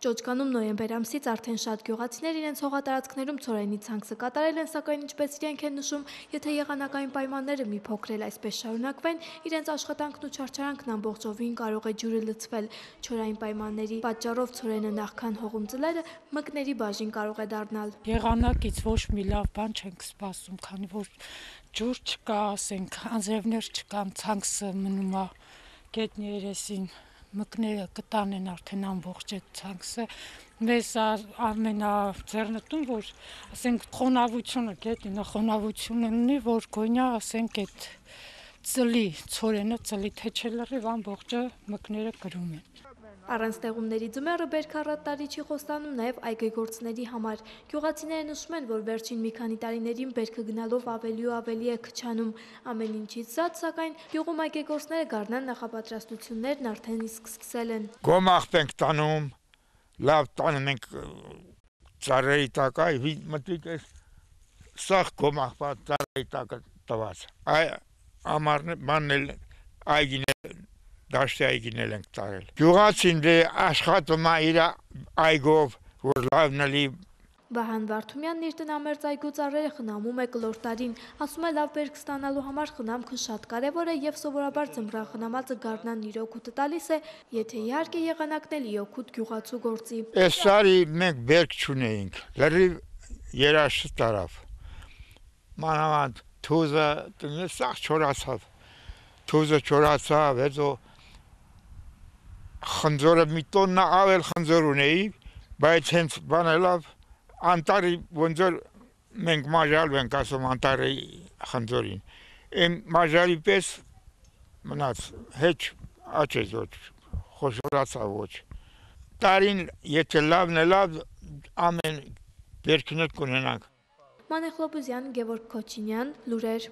Ճոճկանում նոյեմբեր ամսից արդեն շատ գյուղացիներ իրենց հողատարածքներում ցորենի ցանքսը կատարել են, սակայն ինչպես իրենք են նշում, եթե եղանակային պայմանները մի փոքր էլ այսպես շարունակվեն, իրենց աշխատանքն ու չարչարանքն ամբողջովին կարող է ջուրը լցվել։ Չորային պայմանների պատճառով ցորենը նախքան հողում ծլելը մկների բաժին կարող է դառնալ։ Եղանակից ոչ մի լավ բան չենք սպասում, քանի որ ջուր չկա, ասենք, անձրևներ չկան, ցանքսը մնում է գետնի երեսին։ Մկները կտանեն արդեն ամբողջ այդ ցանքսը, մեզ ամենաձեռնտուն, որ ասենք խոնավությունը, գետնը խոնավություն ունի, որ գոնյա ասենք այդ ծլի, ցորենը ծլի, թե չէ լրիվ ամբողջը մկները կրում են։ Առանց տեղումների ձմեռը բերք առատ տարի չի խոստանում նաև այգեգործների համար։ Գյուղացիները նշում են, որ վերջին մի քանի տարիներին բերքը գնալով ավելի ու ավելի է քչանում։ Ամեն ինչից զատ, սակայն գյուղում այգեգործները գարնան նախապատրաստություններն արդեն իսկ սկսել են։ Գոմաղ ենք տանում, լավ տանում ենք ծառերի տակ, մտիկ է սաղ գոմաղ ծառերի տակ տված։ Ամառն այգիներ դաշտի այգիներ ենք տարել։ Գյուղացին աշխատում է իր այգով, որ լավն էլի։ Վահան Վարդումյանն իր տնամերձ այգու ծառերը խնամում է կլոր տարին, ասում է լավ բերք ստանալու համար խնամքը շատ կարևոր է եւ սովորաբար ձմռան խնամածը գարնան իր օգուտը տալիս է, եթե իհարկե եղանակն էլ օգուտ գյուղացու գործի։ Այս տարի մենք բերք չունեինք, լրիվ երաշտ տարավ։ Մանավանդ թուզը սաղ չորացավ, թուզը չորացավ, հետո խնձորը մի տոննա ավել խնձոր ունեի, բայց հենց բանելով անտարի ոնց որ մենք մաժալու ենք ասում անտարի խնձորին։ Այն մաժալի պես մնաց, հեչ աչեց ոչ, խոշորացավ ոչ։ Տարին եթե լավն է լավ, ամեն բերքներ կունենանք։ Մանեխ Լոբուզյան, Գևորգ Քոչինյան, լուրեր։